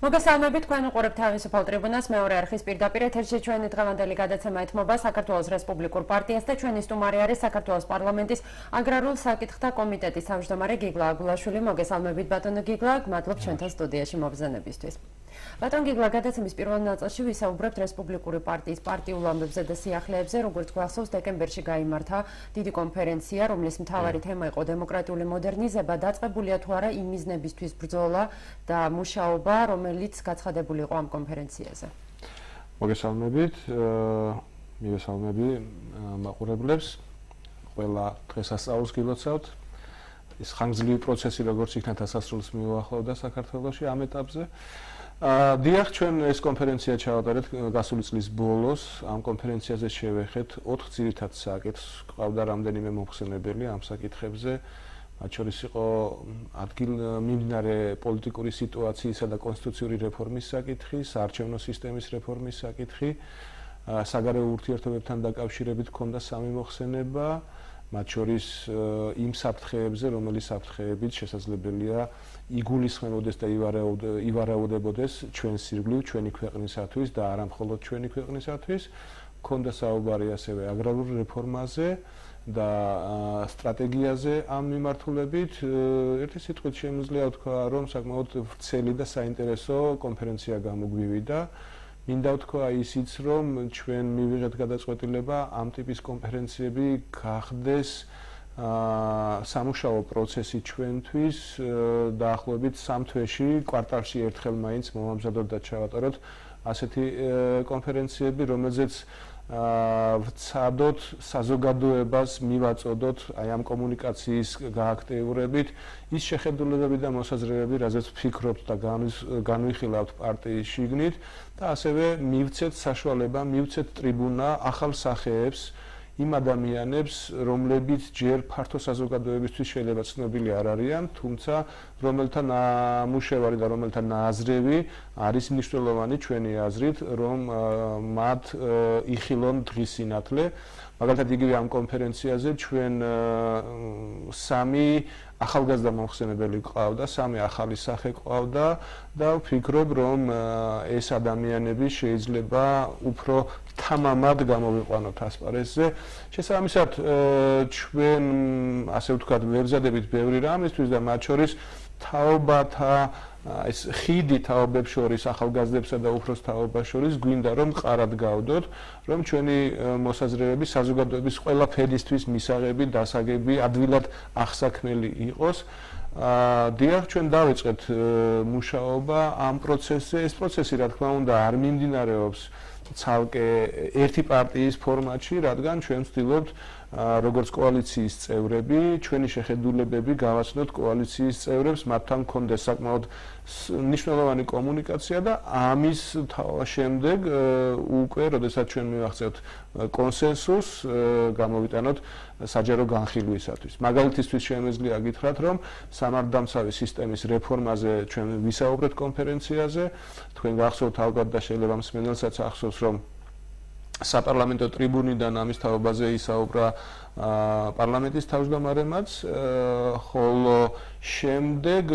მოგესალმებით, თქვენ უყურებთ თავისუფალ ტრიბუნას, მეორე არხის პირდაპირ ეთერში ჩვენი დღევანდელი გადაცემა ეთმობა საქართველოს რესპუბლიკურ პარტიას და ჩვენი სტუმარი არის საქართველოს პარლამენტის აგრარულ საკითხთა კომიტეტის თავმჯდომარე გიგლა აგულაშვილი. მოგესალმებით ბატონო გიგლა, მადლობ ჩვენთან სტუდიაში მობრძანებისთვის. ბატონ გიგლა, გადაცემის პირველ ნაწილში ვისაუბრებთ რესპუბლიკური პარტიის პარტიულ ამბებზე და სიახლეებზე, როგორც გვახსოვს, დეკემბერში გაიმართა დიდი კონფერენცია, რომლის მთავარი თემა იყო დემოკრატიული მოდერნიზება, დაწყებულია თუ არა იმ მიზნებისთვის ბრძოლა და მუშაობა, რომელიც გაცხადებული იყო ამ კონფერენციაზე. მოგესალმებით, მივესალმები მაყურებლებს, ყველა დღესასწაულს გილოცავთ. ის ხანგრძლივი პროცესი როგორც იქნა დასასრულს მიუახლოვდა საქართველოში ამ ეტაპზე. დიახ, ჩვენ ეს კონფერენცია ჩავატარეთ გასული წლის ბოლოს. ამ კონფერენციაზე შევეხეთ 4 ძირითად საკითხს. ყავდა რამდენიმე მოხსენებელი ამ საკითხებზე. მათ შორის იყო ადგილმიმდინარე პოლიტიკური სიტუაციისა და კონსტიტუციური რეფორმის საკითხი, საარჩევნო სისტემის რეფორმის საკითხი, საგარეო ურთიერთობებთან დაკავშირებით ჰქონდა 3 მოხსენება, მათ შორის იმ საფრთხეებზე, რომელიც საფრთხეებით შესაძლებელია იგულისხმებოდეს და ივარაუდებოდეს ჩვენს ირგვლივ, ჩვენი ქვეყნისათვის და არა მხოლოდ ჩვენი ქვეყნისათვის. ჰქონდა საუბარი ასევე აგრარულ რეფორმაზე და სტრატეგიაზე ამ მიმართულებით. ერთი სიტყვით შემიძლია ვთქვა, რომ საკმაოდ ვრცელი და საინტერესო კონფერენცია გამოგვივიდა. მინდა ვთქვა ისიც, რომ ჩვენ მივიღეთ გადაწყვეტილება ამ ტიპის კონფერენციები გახდეს სამუშაო პროცესი ჩვენთვის, დაახლოებით 3 თვეში, კვარტალში ერთხელ მაინც მოვამზადოთ და ჩავატაროთ ასეთი კონფერენციები, რომელზეც ვცადოთ საზოგადოებას მივაწოდოთ აი ამ კომუნიკაციის გააქტიურებით ის შეხედულებები და მოსაზრებები, რაზეც ვფიქრობთ და განვიხილავთ პარტიის შიგნით და ასევე მივცეთ საშუალება, მივცეთ ტრიბუნა ახალ სახეებს იმ ადამიანებს, რომლებიც ჯერ ფართო საზოგადოებისთვის შეიძლება ცნობილი არ არიან, თუმცა რომელთა ნამუშევარი და რომელთა ნაზრევი არის მნიშვნელოვანი ჩვენი აზრით, რომ მათ იხილონ დღის სინათლე. მაგალითად, იგივე ამ კონფერენციაზე ჩვენ 3 ახალგაზრდა მომხსენებელი ყავდა, 3 ახალი სახე ყავდა და ვფიქრობ, რომ ეს ადამიანები შეიძლება უფრო თამამად გამოვიყვანოთ ასპარეზზე. შესაბამისად, ჩვენ ასე ვთქვათ, ვებზადებით ბევრი რამისთვის და მათ შორის თაობათა ეს ხიდი თაობებს შორის, ახალგაზრდებსა და უფროს თაობას შორის გვინდა რომ მყარად გავდოთ, რომ ჩვენი მოსაზრებები საზოგადოების ყველა ფენისთვის მისაღები, დასაგები, ადვილად აღსაქმელი იყოს. დიახ, ჩვენ დავიწყეთ მუშაობა ამ პროცესზე. ეს პროცესი, რა თქმა უნდა, არ მიმდინარეობს ცალკე ერთი პარტიის ფორმატში, რადგან ჩვენ ვცდილობთ როგორც კოალიციის წევრები, ჩვენი შეხედულებები გავაცნოთ კოალიციის წევრებს, მათთან გქონდეს საკმაოდ მნიშვნელოვანი კომუნიკაცია და ამის შემდეგ უკვე, როდესაც ჩვენ მივახცევთ კონსენსუსს, გამოვიტანოთ საჯარო განხილვისათვის. მაგალითისთვის შემიძლია გითხრათ, რომ სამართალდამცავი სისტემის რეფორმაზე ჩვენ ვისაუბრეთ კონფერენციაზე. თქვენ გახსოვთ ალბათ და შეიძლება მსმენელსაც ახსოვს, რომ საპარლამენტო ტრიბუნიდან ამის თაობაზე ისაუბრა პარლამენტის თავმჯდომარემაც, ხოლო შემდეგ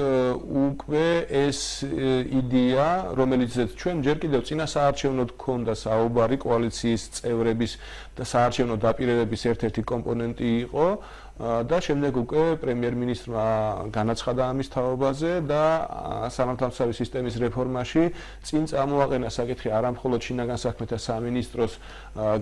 უკვე ეს იდეა, რომელიც ჩვენ ჯერ კიდევ წინა საარჩევნოდ გქონდა საუბარი კოალიციის წევრების და საარჩევნო დაპირებების ერთ-ერთი კომპონენტი იყო და შემდეგ უკვე პრემიერ-მინისტრმა განაცხადა ამის თაობაზე და სამართალდამცავი სისტემის რეფორმაში წინ წამოაყენა საკითხი არა მხოლოდ შინაგან საქმეთა სამინისტროს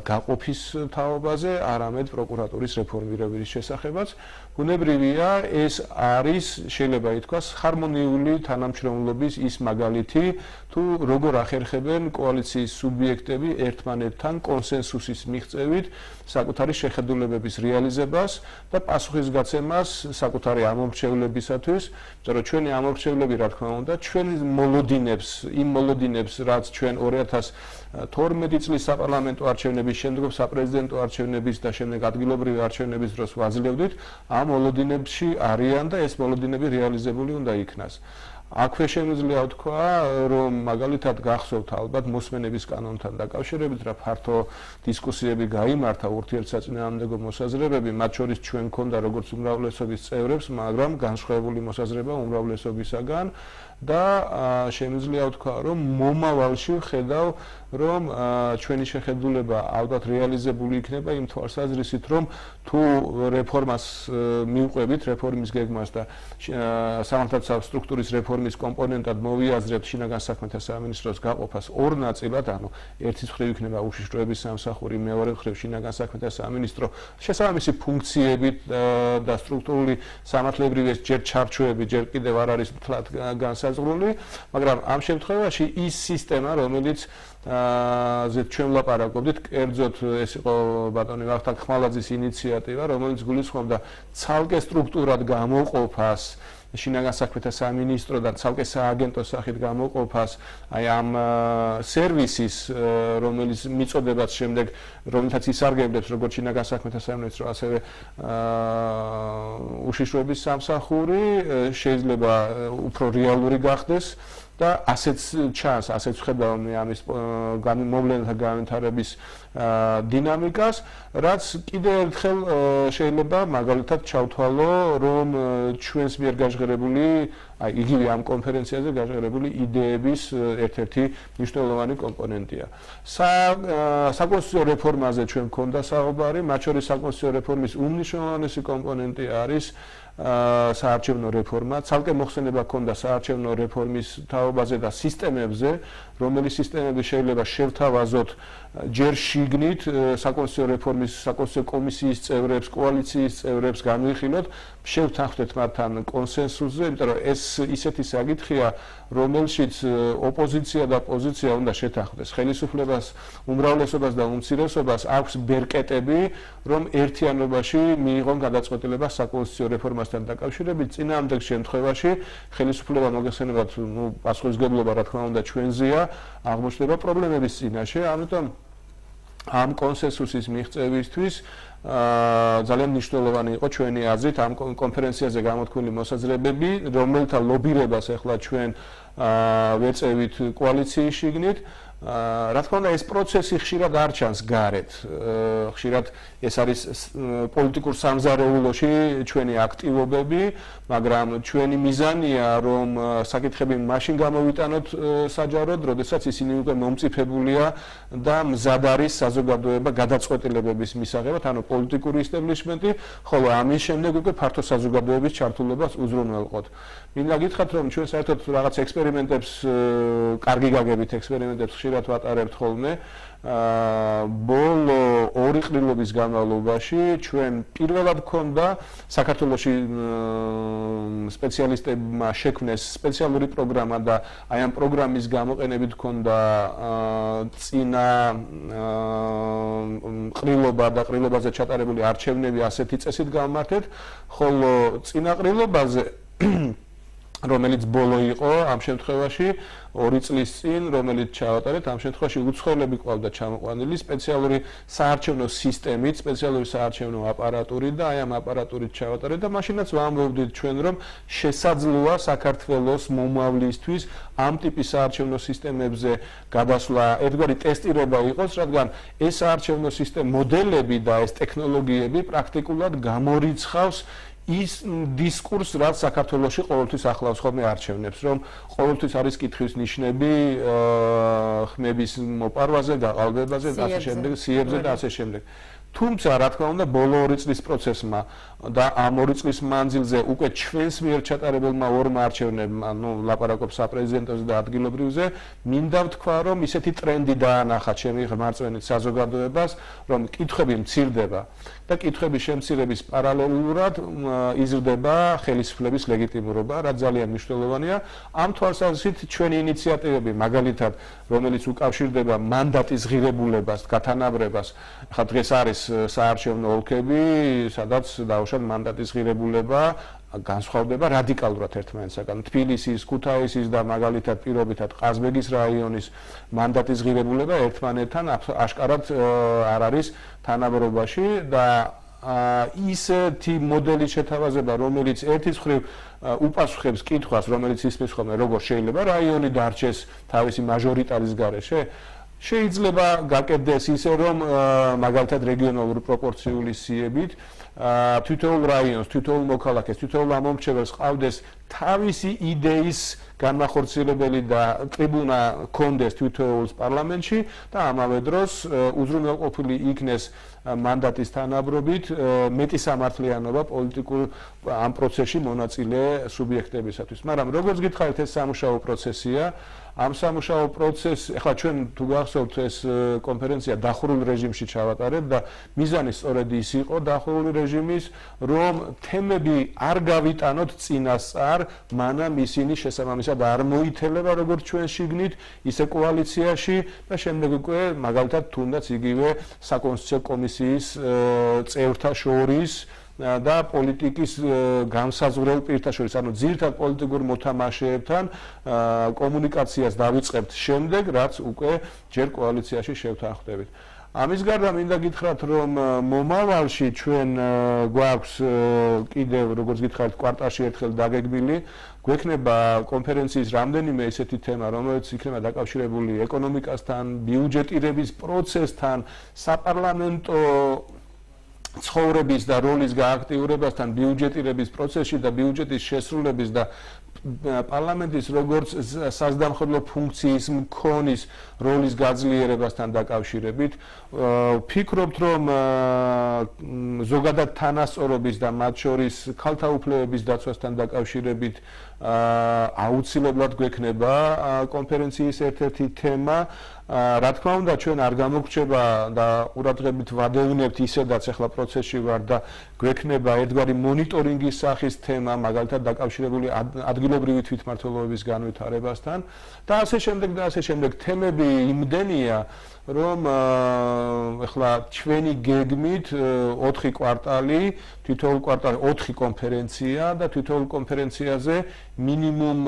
გაყოფის თაობაზე, არამედ პროკურატურის რეფორმირების შესახებაც. ბუნებრივია, ეს არის შეიძლება ითქვას ჰარმონიული თანამშრომლობის ის მაგალითი, თუ როგორ ახერხებენ კოალიციის სუბიექტები ერთმანეთთან კონსენსუსის მიღწევით საკუთარი შეხედულებების რეალიზებას და პასუხისგაცემას საკუთარი ამორჩევლებისათვის, იმიტომ რომ ჩვენი ამორჩევლები, რა თქმა უნდა, ჩვენ იმ მოლოდინებს, რაც ჩვენ 2012 წლის საპარლამენტო არჩევნების შემდგომ საპრეზიდენტო არჩევნების და შემდეგ ადგილობრივი არჩევნების დროს ვაძლევდით, ამ მოლოდინებში არიან და ეს მოლოდინები რეალიზებული უნდა იქნას. აქვე შემიძლია ვთქვა, რომ მაგალითად გახსოვთ ალბათ მოსმენების კანონთან დაკავშირებით, რა ფართო დისკუსიები გაიმართა, ურთიერთსაწინააღმდეგო მოსაზრებები, მათ შორის ჩვენ გქონდა როგორც უმრავლესობის წევრებს, მაგრამ განსხვავებული მოსაზრება უმრავლესობისაგან და შემიძლია ვთქვა, რომ მომავალში ვხედავ, რომ ჩვენი შეხედულება ალბათ რეალიზებული იქნება იმ თვალსაზრისით, რომ თუ რეფორმას მივყვებით, რეფორმის გეგმას და სამართლებრივი სტრუქტურის რეფორმის კომპონენტად მოვიაზრებთ შინაგან საქმეთა სამინისტროს გაყოფას ორ ნაწილად, ანუ ერთის მხრივ იქნება უშიშროების სამსახური, მეორე მხრივ შინაგან საქმეთა სამინისტრო, შესაბამისი ფუნქციებით და სტრუქტურული სამართლებრივი ჯერ ჩარჩოები, ჯერ კიდევ არ არის მთლად განსაზღვრული, მაგრამ ამ შემთხვევაში ის სისტემა, რომელიც ზედ ჩვენ ვლაპარაკობდით, კერძოდ ეს იყო ბატონი ვახტანგ ხმალაძის ინიციატივა, რომელიც გულისხმობდა ცალკე სტრუქტურად გამოყოფას შინაგან საქმეთა სამინისტროდან ცალკე სააგენტოს სახით გამოყოფას აი ამ სერვისის, რომელიც მიწოდებაც შემდეგ რომელთაც ისარგებლებს როგორც შინაგან საქმეთა სამინისტრო, ასევე უშიშროების სამსახური, შეიძლება უფრო რეალური გახდეს და ასეც ჩანს, ასეც ვხედავ ამის მოვლენათა განვითარების დინამიკას, რაც კიდევ ერთხელ შეიძლება მაგალითად ჩავთვალო, რომ ჩვენს მიერ გაჟღერებული, აი იგივე ამ კონფერენციაზე გაჟღერებული იდეების ერთ-ერთი მნიშვნელოვანი კომპონენტია. საკონსტიტუციო რეფორმაზე ჩვენ გვქონდა საუბარი, მათ შორის საკონსტიტუციო რეფორმის უმნიშვნელოვანესი კომპონენტი არის საარჩევნო რეფორმა, ცალკე მოხსენება ჰქონდა საარჩევნო რეფორმის თაობაზე და სისტემებზე, რომელი სისტემები შეიძლება შევთავაზოთ ჯერ შიგნით საკონსტიტუციო რეფორმის საკონსტიტუციო კომისიის წევრებს, კოალიციის წევრებს განვიხილოთ, შევთანხმდეთ მათთან კონსენსუსზე, იმიტომ რომ ეს ისეთი საკითხია, რომელშიც ოპოზიცია და პოზიცია უნდა შეთანხმდეს. ხელისუფლებას, უმრავლესობას და უმცირესობას აქვს ბერკეტები, რომ ერთიანობაში მიიღონ გადაწყვეტილება საკონსტიტუციო რეფორმასთან დაკავშირებით. წინააღმდეგ შემთხვევაში ხელისუფლება მოგეხსენებათ, პასუხისმგებლობა რა თქმა უნდა ჩვენზეა, აღმოჩნდება პრობლემების წინაშე, ამიტომ ამ კონსენსუსის მიღწევისთვის ძალიან მნიშვნელოვანი იყო ჩვენი აზრით ამ კონფერენციაზე გამოთქმული მოსაზრებები, რომელთა ლობირებას ახლა ჩვენ ვეწევით კოალიციის შიგნით. რა თქმა უნდა, ეს პროცესი ხშირად არ ჩანს გარეთ. ხშირად ეს არის პოლიტიკურ სამზარეულოში ჩვენი აქტივობები, მაგრამ ჩვენი მიზანია, რომ საკითხები მაშინ გამოვიტანოთ საჯაროდ, როდესაც ისინი უკვე მომწიფებულია და მზად არის საზოგადოება გადაწყვეტილებების მისაღებად, ანუ პოლიტიკური ისტაბლიშმენტი, ხოლო ამის შემდეგ უკვე ფართო საზოგადოების ჩართულობას უზრუნველყოთ. მინდა გითხრათ, რომ ჩვენ საერთოდ რაღაც ექსპერიმენტებს, კარგი გაგებით ექსპერიმენტებს ხშირად ვატარებთ ხოლმე. ბოლო ორი ყრილობის განმავლობაში ჩვენ პირველად გქონდა საქართველოში სპეციალისტებმა შექმნეს სპეციალური პროგრამა და აი ამ პროგრამის გამოყენებით გქონდა წინა ყრილობა და ყრილობაზე ჩატარებული არჩევნები ასეთი წესით გავმართეთ, ხოლო წინა ყრილობაზე რომელიც ბოლო იყო ამ შემთხვევაში 2 წლის წინ, რომელიც ჩავატარეთ, ამ შემთხვევაში უცხოელები ყავდა ჩამოყვანილი სპეციალური საარჩევნო სისტემით, სპეციალური საარჩევნო აპარატურით და აი ამ აპარატურით ჩავატარეთ და მაშინაც ვამბობდით ჩვენ, რომ შესაძლოა საქართველოს მომავლისთვის ამ ტიპის საარჩევნო სისტემებზე გადასვლა, ერთგვარი ტესტირება იყოს, რადგან ეს საარჩევნო სისტემის მოდელები და ეს ტექნოლოგიები პრაქტიკულად გამორიცხავს ის დისკურს, რაც საქართველოში ყოველთვის ახლავს ხოლმე არჩევნებს, რომ ყოველთვის არის კითხვის ნიშნები ხმების მოპარვაზე, გაყალბებაზე და ასე შემდეგ, სიებზე და ასე შემდეგ. თუმცა, რა თქმა უნდა, ბოლო 2 წლის პროცესმა და ამ 2 წლის მანძილზე უკვე ჩვენს მიერ ჩატარებულმა ორმა არჩევნებმა, ლაპარაკობ საპრეზიდენტოზე და ადგილობრივზე, მინდა ვთქვა, რომ ისეთი ტრენდი დაანახა ჩემი ღმერთწვენით საზოგადოებას, რომ კითხვები მცირდება და კითხვების შემცირების პარალელურად იზრდება ხელისუფლების ლეგიტიმურობა, რაც ძალიან მნიშვნელოვანია. ამ თვალსაზრისით ჩვენი ინიციატივები, მაგალითად, რომელიც უკავშირდება მანდატის ღირებულებას, გათანაბრებას, ხა დღეს არის საარჩევნო ოლქები, სადაც დაუშვათ მანდატის ღირებულება განსხვავდება რადიკალურად ერთმანეთისაგან. თბილისის, ქუთაისის და მაგალითად პირობითად ყაზბეგის რაიონის მანდატის ღირებულება ერთმანეთთან აშკარად არ არის თანაბრობაში და ისეთი მოდელის შეთავაზება, რომელიც ერთის მხრივ უპასუხებს კითხვას, რომელიც ისმის ხოლმე, როგორ შეიძლება რაიონი დარჩეს თავისი მაჟორიტარის გარეშე, შეიძლება გაკეთდეს ისე, რომ მაგალითად რეგიონალური პროპორციული სიებით თითოეულ რაიონს, თითოეულ მოქალაქეს, თითოეულ ამომრჩეველს ყავდეს თავისი იდეის განმახორციელებელი და ტრიბუნა კონდეს თითოეულს პარლამენტში და ამავე დროს უზრუნველყოფილი იქნეს მანდატის თანაბრობით მეტი სამართლიანობა პოლიტიკურ ამ პროცესში მონაწილე სუბიექტებისათვის. მაგრამ როგორც გითხარით, ეს სამუშაო პროცესია. ამ სამუშაო პროცესს, ახლა ჩვენ თუ გახსოვთ, ეს კონფერენცია დახურულ რეჟიმში ჩავატარებ და მიზანი სწორედ ის იყო დახურული რეჟიმის, რომ თემები არ გავიტანოთ წინასწარ, მანამ ისინი შესაბამისად არ მოითელება როგორც ჩვენ შიგნით, ისე კოალიციაში და შემდეგ უკვე მაგალითად თუნდაც იგივე საკონსტიტუციო კომისიის წევრთა შორის და პოლიტიკის განსაზღვრელ პირთა შორის, ანუ ძირითად პოლიტიკურ მოთამაშეებთან კომუნიკაციას დავიწყებთ შემდეგ, რაც უკვე ჯერ კოალიციაში შევთანხმდებით. ამის გარდა მინდა გითხრათ, რომ მომავალში ჩვენ გვაქვს კიდევ, როგორც გითხარით, კვარტალში ერთხელ დაგეგმილი, გვექნება კონფერენციის რამდენიმე ესეთი თემა, რომელიც იქნება დაკავშირებული ეკონომიკასთან, ბიუჯეტირების პროცესთან, საპარლამენტო ცხოვრების და როლის გააქტიურებასთან ბიუჯეტირების პროცესში და ბიუჯეტის შესრულების და პარლამენტის როგორც საზდამხედლო ფუნქციის მქონის როლის გაძლიერებასთან დაკავშირებით ვფიქრობთ, რომ ზოგადად თანასწორობის და მათ შორის ქალთა უფლებების დაცვასთან დაკავშირებით აუცილებლად გვექნება კონფერენციის ერთ-ერთი თემა. რა თქმა უნდა, ჩვენ არ გამოგრჩება და ყურადღებით ვადევნებთ ისედაც ახლა პროცესში ვარ და გვექნება ერთგვარი მონიტორინგის სახის თემა, მაგალითად დაკავშირებული ადგილობრივი თვითმმართველობის განვითარებასთან და ასე შემდეგ თემები იმდენია, რომ ახლა ჩვენი გეგმით 4 კვარტალი, თითოეულ კვარტალში 4 კონფერენცია და თითოეულ კონფერენციაზე მინიმუმ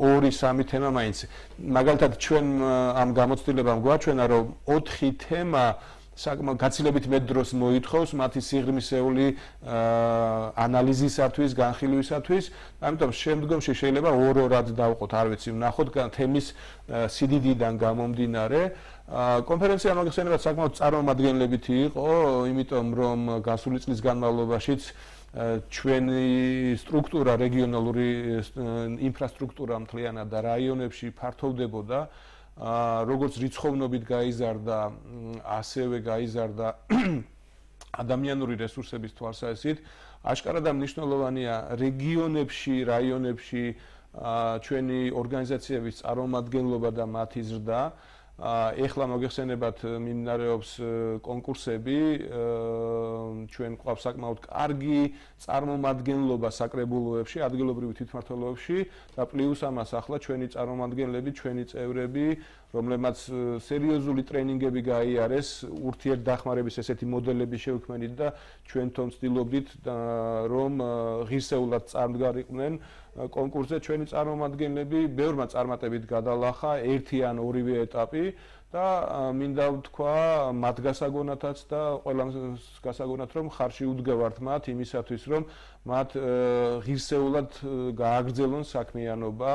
2-3 თემა მაინც. მაგალითად ჩვენ ამ გამოცდილებამ გვაჩვენა, რომ 4 თემა საკმაოდ გაცილებით მეტ დროს მოითხოვს მათი სიღრმისეული ანალიზისათვის, განხილვისათვის, ამიტომ შემდგომში შეიძლება ორ-ორად დავყოთ, არ ვიცი, ვნახოთ თემის სიდიდიდან გამომდინარე. კონფერენცია მოგხსენებათ საკმაოდ წარმომადგენლებითი იყო, იმიტომ რომ გასული წლის განმავლობაშიც ჩვენი სტრუქტურა, რეგიონალური ინფრასტრუქტურა მთლიანად და რაიონებში ფართოვდებოდა, როგორც რიცხოვნობით გაიზარდა, ასევე გაიზარდა ადამიანური რესურსების თვალსაზრისით, აშკარად და მნიშვნელოვანია რეგიონებში, რაიონებში ჩვენი ორგანიზაციების წარმომადგენლობა და მათი ზრდა. ეხლა მოგეხსენებათ მიმდინარეობს კონკურსები, ჩვენ გვყავს საკმაოდ კარგი წარმომადგენლობა საკრებულოებში, ადგილობრივი თვითმმართველობებში და პლუს ამას ახლა ჩვენი წარმომადგენლები, ჩვენი წევრები, რომლებმაც სერიოზული ტრენინგები გაიარეს, ურთიერთდახმარების ესეთი მოდელები შევქმნით და ჩვენ თვითონ ვცდილობდით, რომ ღირსეულად წარმდგარიყვნენ კონკურსზე ჩვენი წარმომადგენლები, ბევრმა წარმატებით გადალახა ერთი ან ორივე ეტაპი და მინდა ვთქვა მათ გასაგონათაც და ყველას გასაგონათ, რომ ხარში უდგევართ მათ იმისათვის, რომ მათ ღირსეულად გააგრძელონ საქმიანობა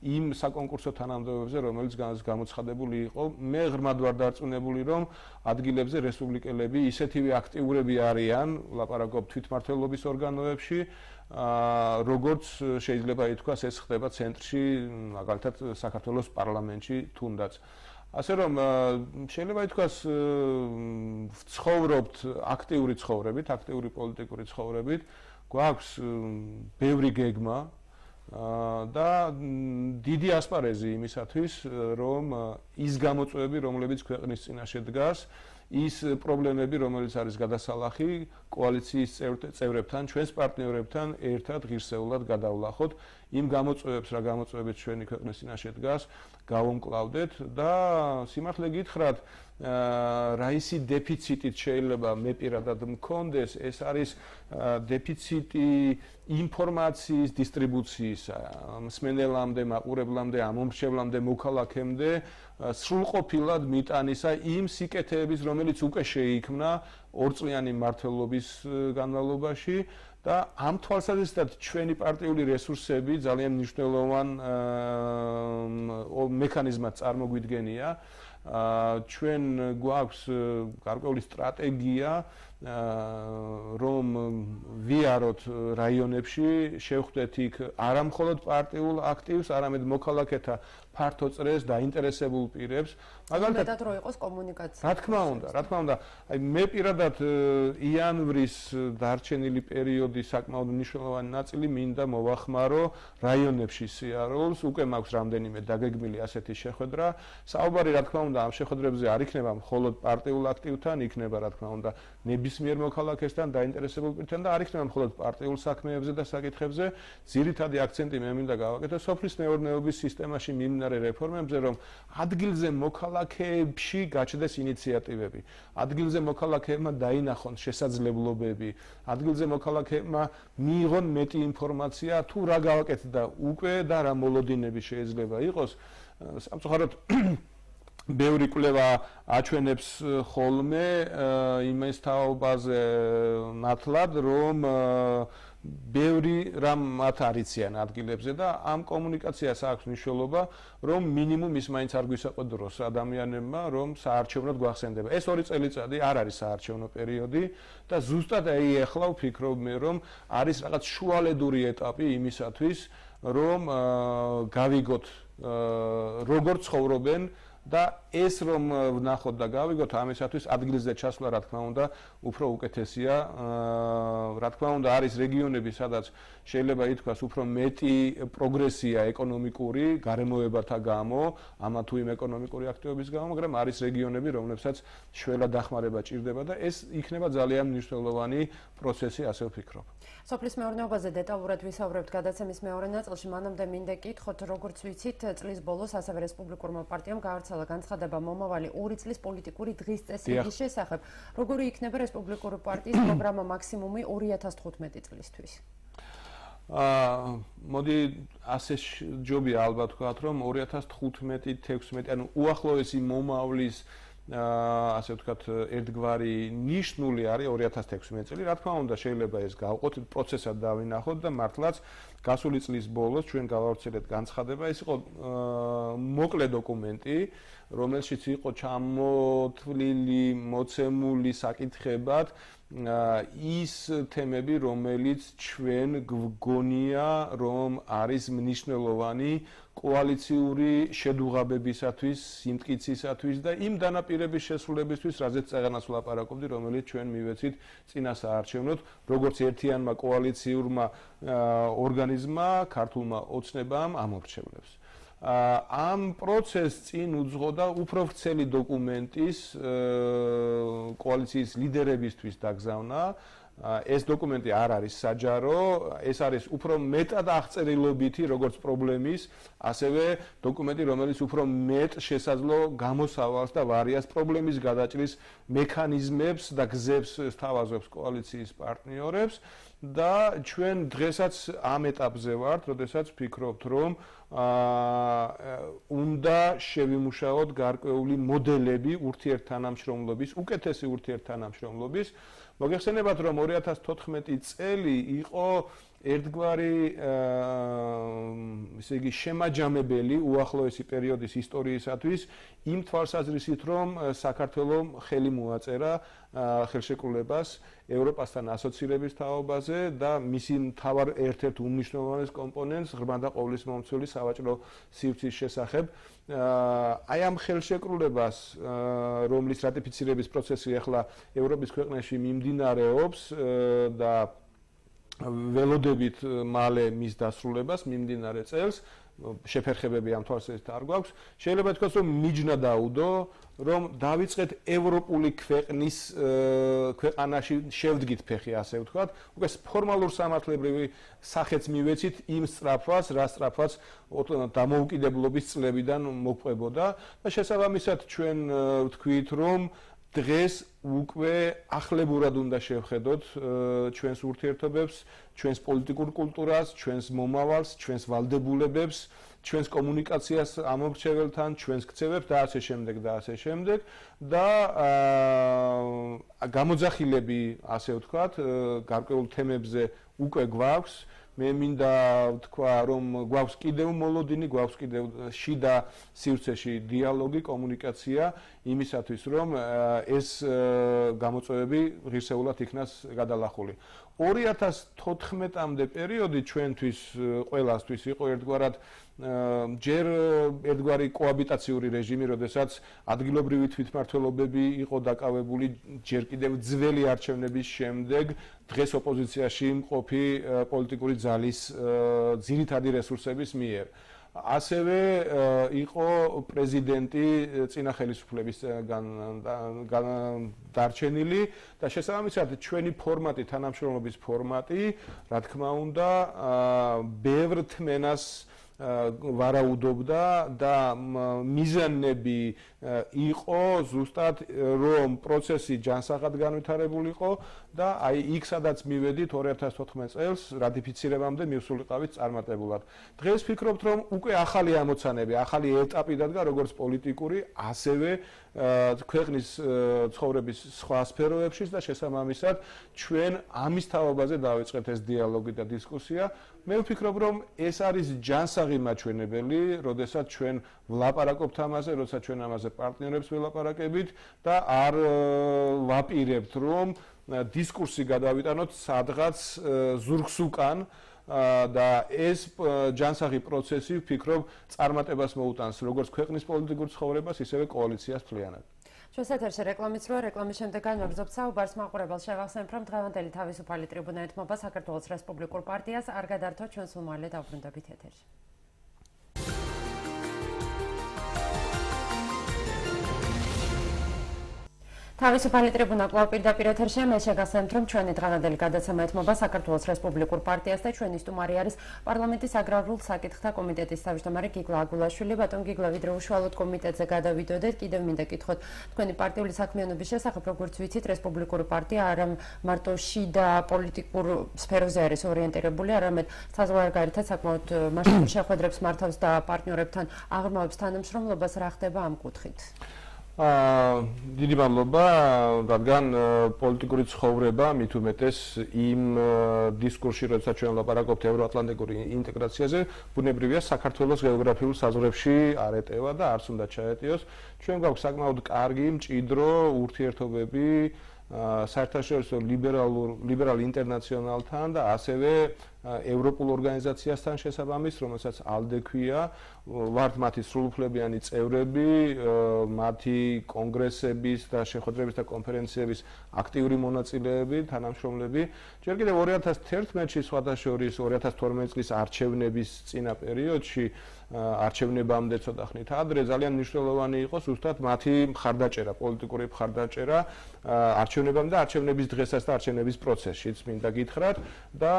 იმ საკონკურსო თანამდებობებზე, რომელიც გამოცხადებული იყო. მე ღრმად ვარ დარწმუნებული, რომ ადგილებზე რესპუბლიკელები ისეთივე აქტიურები არიან, ლაპარაკობ თვითმმართველობის ორგანოებში, როგორც შეიძლება ითქვას, ეს ხდება ცენტრში, მაგალითად საქართველოს პარლამენტში თუნდაც. ასე რომ შეიძლება ითქვას, ვცხოვრობთ აქტიური ცხოვრებით, აქტიური პოლიტიკური ცხოვრებით, გვაქვს ბევრი გეგმა და დიდი ასპარეზი იმისათვის, რომ ის გამოწვევები, რომლებიც ქვეყნის წინაშე დგას, ის პრობლემები, რომელიც არის გადასალახი, კოალიციის წევრებთან, ჩვენს პარტნიორებთან ერთად ღირსეულად გადავლახოთ იმ გამოწვევებს, რა გამოწვევებით ჩვენი ქვეყნის წინაშე დგას, გავუმკლავდეთ და სიმართლე გითხრათ, რა ისი დეფიციტით შეიძლება მე პირადად მქონდეს, ეს არის დეფიციტი ინფორმაციის დისტრიბუციისა, მსმენელამდე, მაყურებლამდე, ამომრჩევლამდე, მოქალაქემდე, სრულყოფილად მიტანისა იმ სიკეთეების, რომელიც უკვე შეიქმნა ორწლიანი მმართველობის განმავლობაში და ამ თვალსაზრისით ჩვენი პარტიული რესურსები ძალიან მნიშვნელოვან მექანიზმად წარმოგვიდგენია ჩვენ გვაქვს გარკვეული სტრატეგია რომ ვიაროთ რაიონებში, შევხვდეთ იქ არა მხოლოდ პარტიულ აქტივს, არამედ მოქალაქეთა ფართო წრეს დაინტერესებულ პირებს. მაგალითად რო იყოს კომუნიკაცია. რა თქმა უნდა. აი მე პირადად იანვრის დარჩენილი პერიოდი საკმაოდ მნიშვნელოვანი ნაწილი მინდა მოვახმარო რაიონებში სიარულს. უკვე მაქვს რამდენიმე დაგეგმილი ასეთი შეხვედრა. საუბარი რა თქმა უნდა ამ შეხვედრებზე არ იქნება მხოლოდ პარტიულ აქტივთან, იქნება რა თქმა უნდა ნებისმიერ მოქალაქესთან დაინტერესებულ პირთან და არ იქნება მხოლოდ პარტიულ საქმეებზე და საკითხებზე. ძირითადი აქცენტი მე მინდა გავაკეთო სოფლის მეურნეობის სისტემაში მიმდინარე რეფორმებზე, რომ ადგილზე მოქალაქეებში გაჩნდეს ინიციატივები. ადგილზე მოქალაქეებმა დაინახონ შესაძლებლობები, ადგილზე მოქალაქეებმა მიიღონ მეტი ინფორმაცია თუ რა გავაკეთდა უკვე და რა მოლოდინები შეიძლება იყოს. სამწუხაროდ ბევრი კვლევა აჩვენებს ხოლმე იმის თაობაზე ნათლად, რომ ბევრი რამ მათ არიციან ადგილებზე და ამ კომუნიკაციას აქვს მნიშვნელობა, რომ მინიმუმ ის მაინც არ გვისაყვედროს ადამიანებმა, რომ საარჩევნოდ გვახსენდება. ეს 2 წელიწადი არ არის საარჩევნო პერიოდი და ზუსტად ახლა ვფიქრობ მე, რომ არის რაღაც შუალედური ეტაპი იმისათვის, რომ გავიგოთ როგორ ცხოვრობენ და ეს რომ ვნახოთ და გავიგოთ ამისათვის ადგილზე ჩასვლა რა თქმა უნდა უფრო უკეთესია. რა თქმა უნდა არის რეგიონები, სადაც შეიძლება ითქვას უფრო მეტი პროგრესია ეკონომიკური გარემოებათა გამო, ამა თუ იმ ეკონომიკური აქტივობის გამო, მაგრამ არის რეგიონები, რომლებსაც შველა დახმარება ჭირდება და ეს იქნება ძალიან მნიშვნელოვანი პროცესი, ასე ვფიქრობ. სოფლის მეურნეობაზე დეტალურად ვისაუბრებთ გადაცემის მეორე ნაწილში. მანამდე მინდა გითხოთ, როგორც ვიცით, წლის ბოლოს ასევე რესპუბლიკურმა პარტიამ გაავრცელა განცხადება მომავალი 2 წლის პოლიტიკური დღის წესრიგის შესახებ. როგორი იქნება რესპუბლიკური პარტიის პროგრამა მაქსიმუმი 2015 წლისთვის? მოდი ასე ჯობია ალბათ ვთქვათ, რომ 2015-16, ანუ უახლოესი მომავლის ასე ვთქვათ, ერთგვარი ნიშნული არის 2016 წელი. რა თქმა უნდა, შეიძლება ეს გავყოთ, პროცესად დავინახოთ და მართლაც გასული წლის ბოლოს ჩვენ გავავრცელეთ განცხადება. ეს იყო მოკლე დოკუმენტი, რომელშიც იყო ჩამოთვლილი, მოცემული საკითხებად ის თემები, რომელიც ჩვენ გვგონია, რომ არის მნიშვნელოვანი კოალიციური შედუღაბებისათვის, სიმტკიცისათვის და იმ დანაპირების შესრულებისთვის, რაზეც წეგანას ვლაპარაკობდი, რომელიც ჩვენ მივეცით წინა საარჩევნოდ, როგორც ერთიანმა კოალიციურმა ორგანიზმმა, ქართულმა ოცნებამ ამორჩევლებს. ამ პროცესს წინ უძღოდა უფრო ვრცელი დოკუმენტის კოალიციის ლიდერებისთვის დაგზავნა. ეს დოკუმენტი არ არის საჯარო, ეს არის უფრო მეტად აღწერილობითი როგორც პრობლემის, ასევე დოკუმენტი, რომელიც უფრო მეტ შესაძლო გამოსავალს და ვარიანტს პრობლემის გადაჭრის მექანიზმებს და გზებს სთავაზობს კოალიციის პარტნიორებს და ჩვენ დღესაც ამ ეტაპზე ვართ, როდესაც ვფიქრობთ, რომ უნდა შევიმუშაოთ გარკვეული მოდელები ურთიერთთანამშრომლობის, უკეთესი ურთიერთთანამშრომლობის. მოგეხსენებათ, რომ 2014 წელი იყო ერთგვარი ესე იგი შემაჯამებელი უახლოესი პერიოდის ისტორიისათვის იმ თვალსაზრისით, რომ საქართველომ ხელი მოაწერა ხელშეკრულებას ევროპასთან ასოცირების თაობაზე და მისი მთავარ ერთ-ერთ უმნიშვნელოვანეს კომპონენტს ღრმა და ყოვლისმომცველი სავაჭრო სივრცის შესახებ. აი ამ ხელშეკრულებას, რომლის რატიფიცირების პროცესი ახლა ევროპის ქვეყნებში მიმდინარეობს და ველოდებით მალე მის დასრულებას მიმდინარე წელს, შეფერხებები ამ თვალსაზრისით არ გვაქვს. შეიძლება თქვას, რომ მიჯნა დაუდო, რომ დავიწყეთ ევროპული ქვეყნის ქვეყანაში შევდგით ფეხი, ასე ვთქვათ, უკვე ფორმალურ სამართლებრივი სახეც მივეცით იმ სწრაფვას, რა სწრაფვაც დამოუკიდებლობის წლებიდან მოყვებოდა და შესაბამისად ჩვენ ვთქვით, რომ დღეს უკვე ახლებურად უნდა შევხედოთ ჩვენს ურთიერთობებს, ჩვენს პოლიტიკურ კულტურას, ჩვენს მომავალს, ჩვენს ვალდებულებებს, ჩვენს კომუნიკაციას ამორჩეველთან, ჩვენს ქცევებს და ასე შემდეგ და ასე შემდეგ და გამოძახილები, ასე ვთქვათ, გარკვეულ თემებზე უკვე გვაქვს. მე მინდა ვთქვა, რომ გვაქვს კიდევ მოლოდინი, გვაქვს კიდევ შიდა სივრცეში დიალოგი, კომუნიკაცია იმისათვის, რომ ეს გამოწვევები ღირსეულად იქნას გადალახული. 2014-მდე პერიოდი ჩვენთვის ყველასთვის იყო ერთგვარად ჯერ ერთგვარი კოაბიტაციური რეჟიმი, როდესაც ადგილობრივი თვითმმართველობები იყო დაკავებული ჯერ კიდევ ძველი არჩევნების შემდეგ დღეს ოპოზიციაში მყოფი პოლიტიკური ძალის ძირითადი რესურსების მიერ. ასევე იყო პრეზიდენტი წინა ხელისუფლების დარჩენილი და შესაბამისად ჩვენი ფორმატი, თანამშრომლობის ფორმატი, რა თქმა უნდა, ბევრ თმენას ვარაუდობდა და მიზანები იყო ზუსტად რომ პროცესი ჯანსაღად განვითარებულიყო და აი იქ სადაც მივედით 2014 წელს რატიფიცირებამდე მივსულიყავით წარმატებულად. დღეს ვფიქრობთ რომ უკვე ახალი ამოცანები, ახალი ეტაპი დადგა როგორც პოლიტიკური, ასევე ქვეყნის ცხოვრების სხვა სფეროებშიც და შესაბამისად ჩვენ ამის თაობაზე დავიწყეთ ეს დიალოგი და დისკუსია. მე ვფიქრობ რომ ეს არის ჯანსაღი მაჩვენებელი, როდესაც ჩვენ ვლაპარაკობთ ამაზე, როდესაც ჩვენ ამაზე პარტნიორებს ველაპარაკებით და არ ვაპირებთ რომ დისკურსი გადავიტანოთ სადღაც ზურგს უკან და ეს ჯანსაღი პროცესი ვფიქრობ წარმატებას მოუტანს როგორც ქვეყნის პოლიტიკურ ცხოვრებას, ისევე კოალიციას მთლიანად. ჩვენს ეთერში რეკლამის როა, რეკლამის შემდეგ განვაგრძობთ საუბარს. მაყურებელს შევახსენებ, რომ დღევანდელი თავისუფალი ტრიბუნა ეთმობა საქართველოს რესპუბლიკურ პარტიას. არ გადართოთ, ჩვენს უმალე დავბრუნდებით ეთერში. თავისუფალი ტრიბუნა კვლავ პირდაპირ ეთერშია. მე შეგახსენებთ, რომ ჩვენი დღევანდელი გადაცემა ეთმობა საქართველოს რესპუბლიკურ პარტიას და ჩვენი სტუმარი არის პარლამენტის აგრარულ საკითხთა კომიტეტის თავმჯდომარე გიგლა აგულაშვილი. ბატონ გიგლა, ვიდრე უშუალოდ კომიტეტზე გადავიდოდეთ, კიდევ მინდა გითხოთ თქვენი პარტიული საქმიანობის შესახებ, როგორც ვიცით, რესპუბლიკური პარტია არა მარტო შიდა პოლიტიკურ სფეროზე არის ორიენტირებული, არამედ საზღვარგარეთაც საკმაოდ მასშტაბურ შეხვედრებს მართავს და პარტნიორებთან აღრმავებს თანამშრომლობას. რა ხდება ამ კუთხით? დიდი მადლობა, რადგან პოლიტიკური ცხოვრება მით უმეტეს იმ დისკურსში, როდესაც ჩვენ ვლაპარაკობთ ევროატლანტიკური ინტეგრაციაზე, ბუნებრივია საქართველოს გეოგრაფიულ საზღვრებში არ ეტევა და არც უნდა ჩაეტიოს. ჩვენ გვაქვს საკმაოდ კარგი, მჭიდრო ურთიერთობები საერთაშორისო ლიბერალ ინტერნაციონალთან და ასევე ევროპულ ორგანიზაციასთან შესაბამის, რომელსაც ALDE ქვია, ვართ მათი სრულუფლებიანი წევრები, მათი კონგრესების და შეხვედრების და კონფერენციების აქტიური მონაწილეები, თანამშრომლები. ჯერ კიდევ 2011-ში, სხვადასხვა 2012 წლის არჩევნების წინა პერიოდში, არჩევნებამდე ცოტა ხნით ადრე ძალიან მნიშვნელოვანი იყო ზუსტად მათი მხარდაჭერა, პოლიტიკური მხარდაჭერა არჩევნებამდე და არჩევნების დღესაც და არჩევნების პროცესშიც მინდა გითხრათ და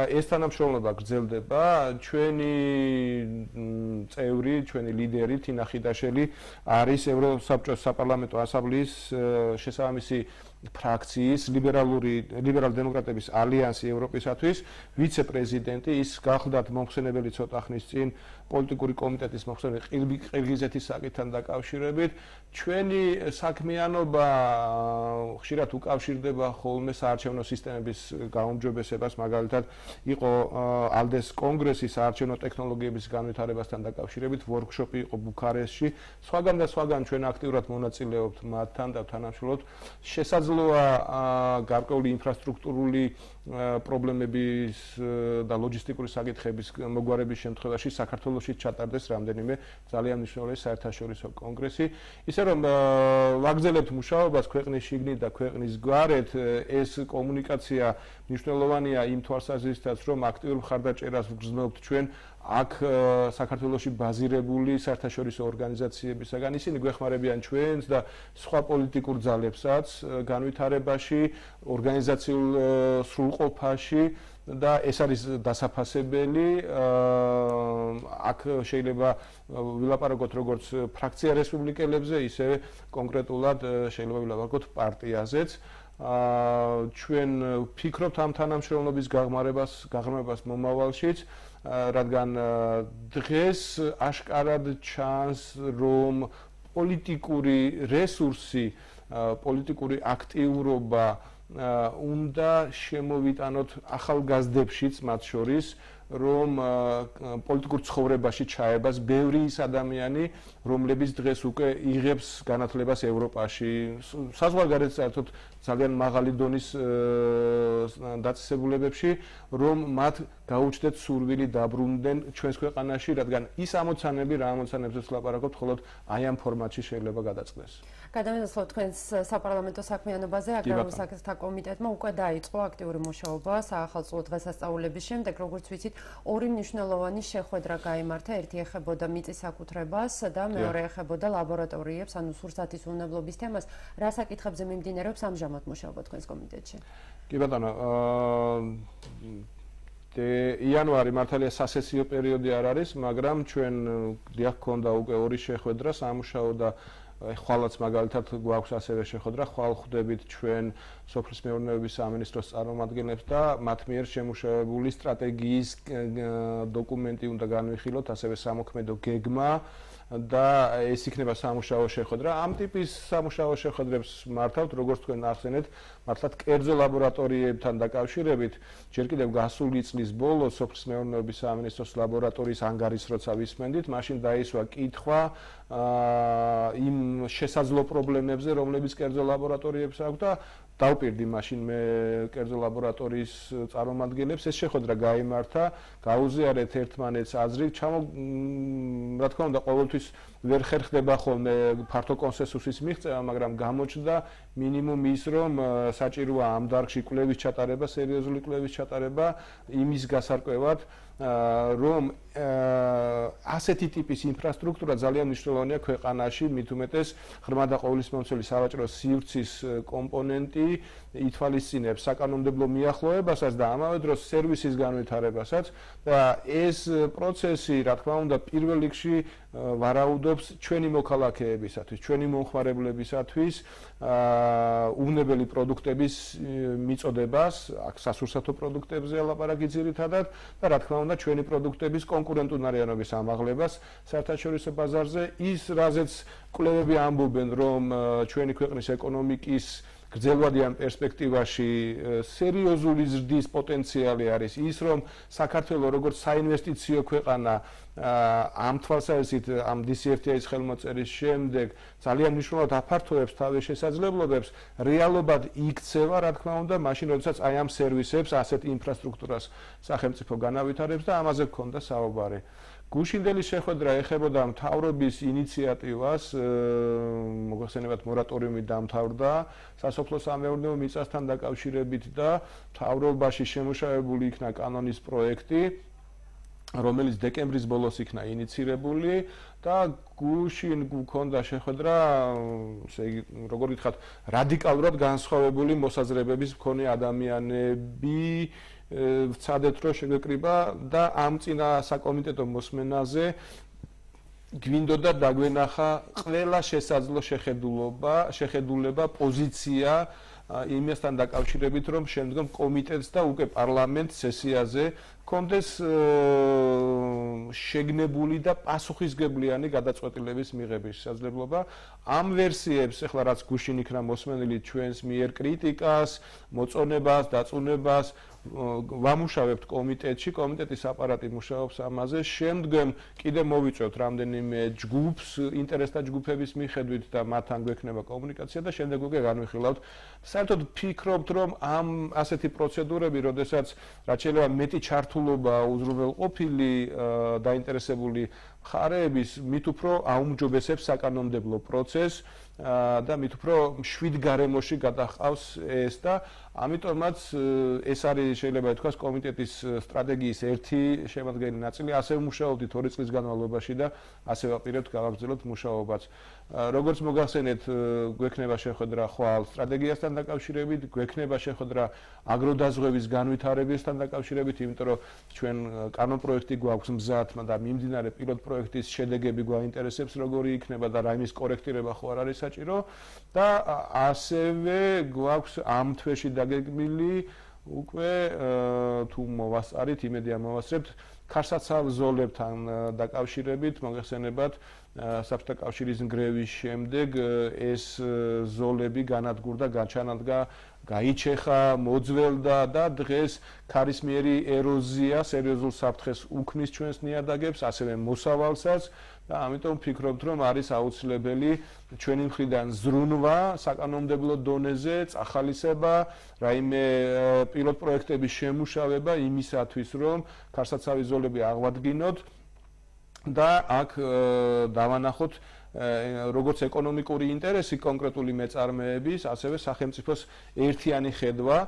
ეს თანამშრომლობა გრძელდება. ჩვენი წევრი, ჩვენი ლიდერი თინა ხიდაშელი არის ევროსაბჭოს საპარლამენტო ასამბლეის შესაბამისი ფრაქციის ლიბერალ-დემოკრატების ალიანსი ევროპისათვის ვიცე-პრეზიდენტი. ის გახლდათ მომხსენებელი ცოტა ხნის წინ პოლიტიკური კომიტეტის მომხსენებელი ყირგიზეთის საკითხთან დაკავშირებით. ჩვენი საქმიანობა ხშირად უკავშირდება ხოლმე საარჩევნო სისტემების გაუმჯობესებას, მაგალითად იყო ALDE-ს კონგრესის საარჩევნო ტექნოლოგიების განვითარებასთან დაკავშირებით ვორქშოპი იყო ბუქარესტში. სხვაგან და სხვაგან ჩვენ აქტიურად მონაწილეობთ მათთან და თანამშრომლობთ. შესაძლოა გარკვეული ინფრასტრუქტურული პრობლემების და ლოჯისტიკური საკითხების მოგვარების შემთხვევაში საქართველოში ჩატარდეს რამდენიმე ძალიან მნიშვნელოვანი საერთაშორისო კონგრესი. ისე რომ ვაგრძელებთ მუშაობას ქვეყნის შიგნით და ქვეყნის გარეთ, ეს კომუნიკაცია მნიშვნელოვანია იმ თვალსაზრისითაც, რომ აქტიურ მხარდაჭერას ვგრძნობთ ჩვენ აქ საქართველოში ბაზირებული საერთაშორისო ორგანიზაციებისაგან. ისინი გვეხმარებიან ჩვენს და სხვა პოლიტიკურ ძალებსაც განვითარებაში, ორგანიზაციულ სრულყოფაში და ეს არის დასაფასებელი. აქ შეიძლება ვილაპარაკოთ როგორც ფრაქცია რესპუბლიკელებზე, ისე კონკრეტულად შეიძლება ვილაპარაკოთ პარტიაზეც. ჩვენ ვფიქრობთ ამ თანამშრომლობის გაღრმავებას მომავალშიც, რადგან დღეს აშკარად ჩანს, რომ პოლიტიკური რესურსი, პოლიტიკური აქტიურობა უნდა შემოვიტანოთ ახალგაზრდებშიც მათ შორის რომ პოლიტიკურ ცხოვრებაში ჩაებას ბევრი ის ადამიანი, რომლებიც დღეს უკვე იღებს განათლებას ევროპაში, საზღვარგარეთ საერთოდ ძალიან მაღალი დონის დაწესებულებებში, რომ მათ გაუჩნდეთ სურვილი დაბრუნდნენ ჩვენს ქვეყანაში, რადგან ის ამოცანები, რა ამოცანებზეც ვლაპარაკობთ, მხოლოდ აი ამ ფორმატში შეიძლება გადაწყვეს. გადავინაცვლოთ თქვენს საპარლამენტო საქმიანობაზე, აგრარულ საკითხთა კომიტეტმა უკვე დაიწყო აქტიური მუშაობა საახალწლო დღესასწაულების შემდეგ, როგორც ვიცით, ორი მნიშვნელოვანი შეხვედრა გაიმართა, ერთი ეხებოდა მიწის საკუთრებას და მეორე ეხებოდა ლაბორატორიებს, ანუ სურსათის უვნებლობის თემას. რა საკითხებზე მიმდინარეობს ამჟამად მუშაობა თქვენს კომიტეტში? კი ბატონო, იანვარი მართალია სასესიო პერიოდი არ არის, მაგრამ ჩვენ დიახ გქონდა უკვე ორი შეხვედრა სამუშაო და ხვალაც მაგალითად გვაქვს ასევე შეხვედრა, ხვალ ხვდებით ჩვენ სოფლის მეურნეობის სამინისტროს წარმომადგენლებს და მათ მიერ შემუშავებული სტრატეგიის დოკუმენტი უნდა განვიხილოთ, ასევე სამოქმედო გეგმა და ეს იქნება სამუშაო შეხვედრა. ამ ტიპის სამუშაო შეხვედრებს მართავთ, როგორც თქვენ ახსენეთ, მართლაც კერძო ლაბორატორიებთან დაკავშირებით, ჯერ კიდევ გასული წლის ბოლოს სოფლის მეურნეობის სამინისტროს ლაბორატორიის ანგარის როცა ვისმენდით, მაშინ დაისვა კითხვა იმ შესაძლო პრობლემებზე, რომლებიც კერძო ლაბორატორიებს აქვს და დავპირდი მაშინ მე კერძო ლაბორატორიის წარმომადგენლებს, ეს შეხვედრა გაიმართა, გაუზიარეთ ერთმანეთს აზრი, რა თქმა უნდა, ყოველთვის ვერ ხერხდება ხოლმე ფართო კონსენსუსის მიღწევა, მაგრამ გამოჩნდა მინიმუმ ის, რომ საჭიროა ამ დარგში კვლევის ჩატარება, სერიოზული კვლევის ჩატარება იმის გასარკვევად, რომ ასეთი ტიპის ინფრასტრუქტურა ძალიან მნიშვნელოვანია ქვეყანაში, მით უმეტეს ღრმა და ყოვლისმომცველი სავაჭრო სივრცის კომპონენტი ითვალისწინებს საკანონმდებლო მიახლოებასაც და ამავე დროს სერვისის განვითარებასაც და ეს პროცესი, რა თქმა უნდა, პირველ რიგში ვარაუდობს ჩვენი მოქალაქეებისათვის, ჩვენი მომხმარებლებისათვის უვნებელი პროდუქტების მიწოდებას, აქ სასურსათო პროდუქტებზე ლაპარაკი ძირითადად და რა თქმა უნდა ჩვენი პროდუქტების კონკურენტუნარიანობის ამაღლებას საერთაშორისო ბაზარზე, ის რაზეც კვლევები ამბობენ, რომ ჩვენი ქვეყნის ეკონომიკის გრძელვადიან პერსპექტივაში სერიოზული ზრდის პოტენციალი არის ის, რომ საქართველოს როგორც საინვესტიციო ქვეყანა ამ თვალსაზრისით ამ DCFTA-ის ხელმოწერის შემდეგ ძალიან მნიშვნელოვნად აფართოებს თავის შესაძლებლობებს, რეალობად იქცევა, რა თქმა უნდა, მაშინ როდესაც აი ამ სერვისებს, ასეთ ინფრასტრუქტურას სახელმწიფო განავითარებს და ამაზე გქონდა საუბარი. გუშინდელი შეხვედრა ეხებოდა მთავრობის ინიციატივას, მოგახსენებათ მორატორიუმი დამთავრდა სასოფლო-სამეურნეო მიწასთან დაკავშირებით და მთავრობაში შემუშავებული იქნა კანონის პროექტი, რომელიც დეკემბრის ბოლოს იქნა ინიცირებული და გუშინ გქონდა შეხვედრა, ესე იგი, როგორ ვთქვათ, რადიკალურად განსხვავებული მოსაზრებების მქონე ადამიანები ვცადეთ რომ შეგვეკრიბა და ამ წინა საკომიტეტო მოსმენაზე გვინდოდა დაგვენახა ყველა შესაძლო შეხედულება, პოზიცია იმასთან დაკავშირებით, რომ შემდგომ კომიტეტს და უკვე პარლამენტს სესიაზე კონდეს შეგნებული და პასუხისგებლიანი გადაწყვეტილების მიღების შესაძლებლობა. ამ ვერსიებს, ახლა რაც გუშინ იქნა მოსმენილი ჩვენს მიერ კრიტიკას, მოწონებას, დაწუნებას ვამუშავებთ კომიტეტში, კომიტეტის აპარატი მუშაობს ამაზე. შემდგომ კიდე მოვიწევთ რამდენიმე ჯგუფს, ინტერესთა ჯგუფების მიხედვით და მათთან გვექნება კომუნიკაცია და შემდეგ უკვე განვიხილავთ. საერთოდ ფიქრობთ, რომ ამ ასეთი პროცედურები, როდესაც რაც შეიძლება მეტი ჩართულობა უზრუნველყოფილი დაინტერესებული მხარეების, მით უფრო აუმჯობესებს საკანონმდებლო პროცესს და მით უფრო მშვიდ გარემოში გადაჰყავს ეს და ამიტომაც ეს არის შეიძლება ითქვას კომიტეტის სტრატეგიის ერთი შემადგენელი ნაწილი. ასევე მუშაობდით 2 წლის განმავლობაში და ასევე ვაპირებთ გავაგრძელოთ მუშაობაც. როგორც მოგახსენეთ, გვექნება შეხვედრა ხვალ სტრატეგიასთან დაკავშირებით, გვექნება შეხვედრა აგროდაზღვევის განვითარებასთან დაკავშირებით, იმიტომ რომ ჩვენ კანონპროექტი გვაქვს მზად და მიმდინარე პილოტ პროექტის შედეგები გვაინტერესებს, როგორი იქნება და რა იმის კორექტირება ხო არ არის საჭირო და ასევე გვაქვს ამ თვეში დაგეგმილი უკვე თუ მოვასწარით, იმედია მოვასწრებთ ქარსაცავ ზოლებთან დაკავშირებით, მოგეხსენებათ საბჭოთა კავშირის ნგრევის შემდეგ ეს ზოლები განადგურდა, გაჩანადგა გაიჩეხა, მოძველდა და დღეს ქარისმიერი ეროზია სერიოზულ საფრთხეს უქმნის ჩვენს ნიადაგებს, ასევე მოსავალსაც და ამიტომ ვფიქრობთ, რომ არის აუცილებელი ჩვენი მხრიდან ზრუნვა საკანონმდებლო დონეზე, წახალისება, რაიმე პილოტ პროექტების შემუშავება იმისათვის, რომ ქარსაცავი ზოლები აღვადგინოთ და აქ დავანახოთ როგორც ეკონომიკური ინტერესი კონკრეტული მეწარმეების, ასევე სახელმწიფოს ერთიანი ხედვა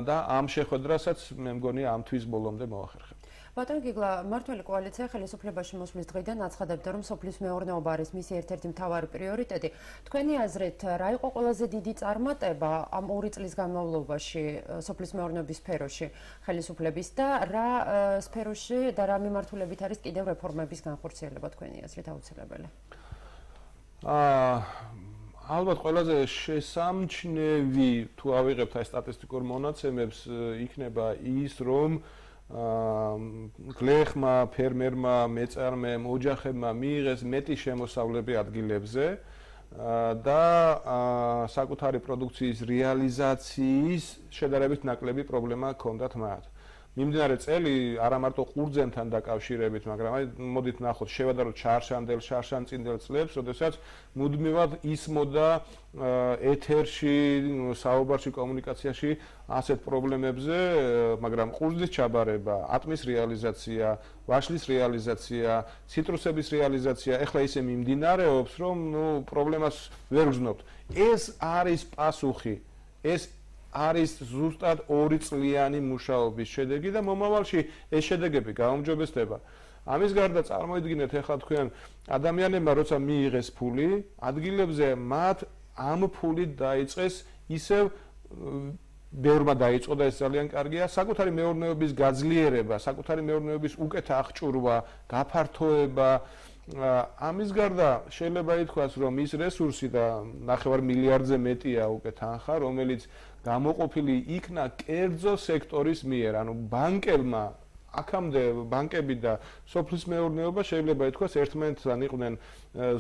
და ამ შეხვედრასაც მე მგონი ამ თვის ბოლომდე მოახერხებთ. ბატონ გიგლა, მმართველი კოალიცია ხელისუფლებაში მოსვლის დღიდან აცხადებდა, რომ სოფლის მეურნეობა არის მისი ერთ-ერთი მთავარი პრიორიტეტი. თქვენი აზრით, რა იყო ყველაზე დიდი წარმატება ამ 2 წლის განმავლობაში სოფლის მეურნეობის სფეროში ხელისუფლების და რა სფეროში და რა მიმართულებით არის კიდევ რეფორმების განხორციელება თქვენი აზრით აუცილებელი? ალბათ ყველაზე შესამჩნევი თუ ავიღებთ აი სტატისტიკურ მონაცემებს იქნება ის, რომ გლეხმა, ფერმერმა, მეწარმემ, ოჯახებმა მიიღეს მეტი შემოსავლები ადგილებზე და საკუთარი პროდუქციის რეალიზაციის შედარებით ნაკლები პრობლემა ჰქონდათ მათ. მიმდინარე წელი არა მარტო ყურძენთან დაკავშირებით, მაგრამ აი მოდით ნახოთ, შევადაროთ შარშან-წინდელ წლებს, როდესაც მუდმივად ისმოდა ეთერში, საუბარში, კომუნიკაციაში ასეთ პრობლემებზე, მაგრამ ყურძნის ჩაბარება, ატმის რეალიზაცია, ვაშლის რეალიზაცია, ციტრუსების რეალიზაცია, ეხლა ისე მიმდინარეობს, რომ პრობლემას ვერ ვგრძნობთ. ეს არის პასუხი, ეს არის ზუსტად 2 წლიანი მუშაობის შედეგი და მომავალში ეს შედეგები გაუმჯობესდება. ამის გარდა წარმოიდგინეთ ახლა თქვენ ადამიანებმა როცა მიიღეს ფული, ადგილებზე მათ ამ ფულით დაიწყეს ისევ ბევრმა დაიწყო და ეს ძალიან კარგია, საკუთარი მეურნეობის გაძლიერება, საკუთარი მეურნეობის უკეთ აღჭურვა, გაფართოება. ამის გარდა შეიძლება ითქვას, რომ ის რესურსი და 9 მილიარდზე მეტია უკეთ ანხა, რომელიც გამოყოფილი იქნა კერძო სექტორის მიერ, ანუ ბანკებმა, აქამდე ბანკები და სოფლის მეურნეობა შეიძლება ითქვას ერთმანეთთან იყვნენ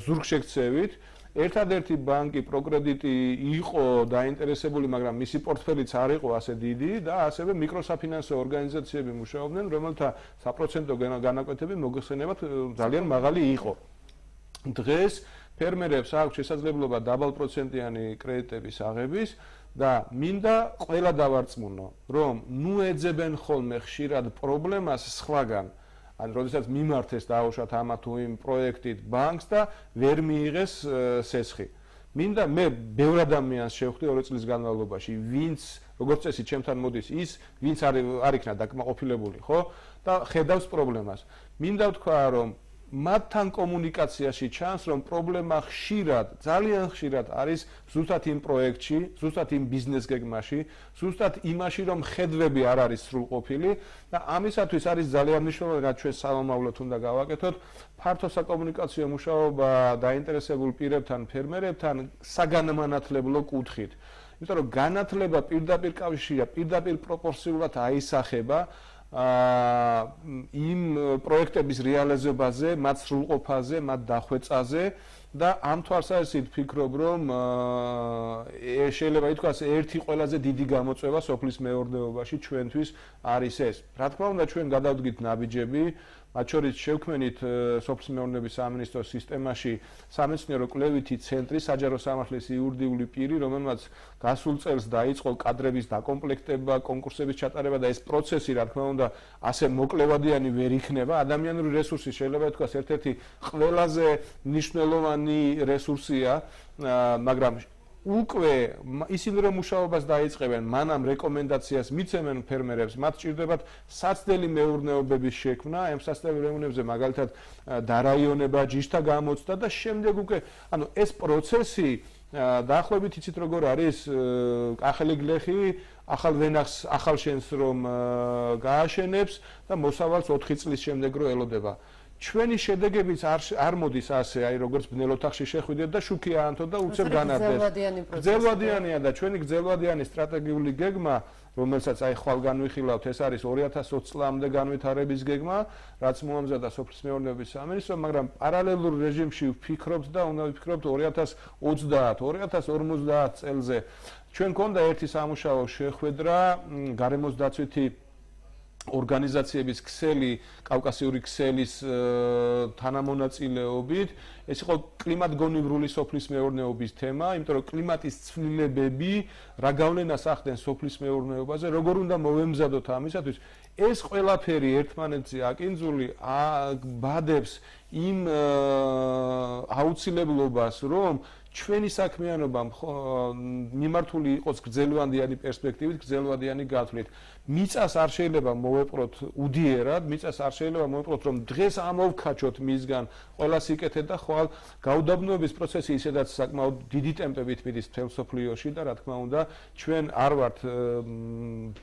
ზურგშექცევით. ერთადერთი ბანკი პროკრედიტი იყო დაინტერესებული, მაგრამ მისი პორტფელიც არ იყო ასე დიდი და ასევე მიკროსაფინანსო ორგანიზაციები მუშაობდნენ, რომელთა საპროცენტო განაკვეთები მოგხსენებათ ძალიან მაღალი იყო. დღეს ფერმერებს აქვს შესაძლებლობა დაბალპროცენტიანი კრედიტების აღების და მინდა ყველა დავარწმუნო, რომ ნუ ეძებენ ხოლმე ხშირად პრობლემას სხვაგან. ან როდესაც მიმართეს დაუშვათ ამა თუ იმ პროექტით ბანკს და ვერ მიიღეს სესხი. მინდა მე ბევრ ადამიანს შევხვდი 2 წლის განმავლობაში, ვინც როგორც წესი ჩემთან მოდის ის, ვინც არ იქნა დაკმაყოფილებული, ხო? და ხედავს პრობლემას. მინდა ვთქვა, რომ მათთან კომუნიკაციაში ჩანს, რომ პრობლემა ხშირად, ძალიან ხშირად არის ზუსტად იმ პროექტში, ზუსტად იმ ბიზნეს გეგმაში, ზუსტად იმაში, რომ ხედვები არ არის სრულყოფილი და ამისათვის არის ძალიან მნიშვნელოვანი, რაც ჩვენ სამომავლოდ უნდა გავაკეთოთ, ფართო საკომუნიკაციო მუშაობა დაინტერესებულ პირებთან, ფერმერებთან საგანმანათლებლო კუთხით. იმიტომ რომ განათლება პირდაპირ კავშირია, პირდაპირ პროპორციულად აისახება იმ პროექტების რეალიზებაზე, მათ სრულყოფაზე, მათ დახვეწაზე და ამ თვალსაზრისით ვფიქრობ, რომ შეიძლება ითქვას ერთი ყველაზე დიდი გამოწვევა სოფლის მეურნეობაში ჩვენთვის არის ეს. რა თქმა უნდა, ჩვენ გადავდგით ნაბიჯები, მათ შორის შევქმნით სოფლის მეურნეობის სამინისტროს სისტემაში სამეცნიერო კვლევითი ცენტრი, საჯარო სამართლის იურიდიული პირი, რომელმაც გასულ წელს დაიწყო კადრების დაკომპლექტება, კონკურსების ჩატარება და ეს პროცესი, რა თქმა უნდა, ასე მოკლევადიანი ვერ იქნება. ადამიანური რესურსი შეიძლება ითქვას ერთ-ერთი ყველაზე მნიშვნელოვანი რესურსია, მაგრამ უკვე ისინი რომ მუშაობას დაიწყებენ, მანამ რეკომენდაციას მიცემენ ფერმერებს, მათ სჭირდებათ საცდელი მეურნეობების შექმნა, ამ საცდელ მეურნეობებზე მაგალითად დარაიონება, ჯიშთა გამოცდა და შემდეგ უკვე, ანუ ეს პროცესი დაახლოებით იცით როგორ არის, ახალი გლეხი ახალ ვენახს, ახალ შენს რომ გააშენებს და მოსავალს 4 წლის შემდეგ რო ელოდება. ჩვენი შედეგებიც არ მოდის ასე, აი როგორც ბნელ ოთახში შეხვიდეთ და შუქი აანთო და უცებ განარდეს. გრძელვადიანია და ჩვენი გრძელვადიანი სტრატეგიული გეგმა, რომელსაც აი ხვალ განვიხილავთ, ეს არის 2020 წლამდე განვითარების გეგმა, რაც მოამზადა სოფლის მეურნეობის სამინისტრო, მაგრამ პარალელურ რეჟიმში ვფიქრობთ და უნდა ვფიქრობთ 2030 წელზე. ჩვენ გქონდა ერთი სამუშაო შეხვედრა გარემოს დაცვითი ორგანიზაციების ქსელი, კავკასიური ქსელის თანამონაწილეობით, ეს იყო კლიმატგონივრული სოფლის მეურნეობის თემა, იმიტომ რომ კლიმატის ცვლილებები რა გავლენას ახდენს სოფლის მეურნეობაზე, როგორ უნდა მოვემზადოთ ამისათვის, ეს ყველაფერი ერთმანეთზე აკინძული ბადებს იმ აუცილებლობას, რომ ჩვენი საქმიანობა მიმართული იყოს გრძელვადიანი პერსპექტივით, გრძელვადიანი გათვლით. მიწას არ შეიძლება მოვეპყროთ უდიერად, მიწას არ შეიძლება მოვეპყროთ, რომ დღეს ამოვქაჩოთ მისგან ყველა სიკეთე და ხვალ გაუდაბნოების პროცესი ისედაც საკმაოდ დიდი ტემპებით მიდის მთელ მსოფლიოში და რა თქმა უნდა, ჩვენ არ ვართ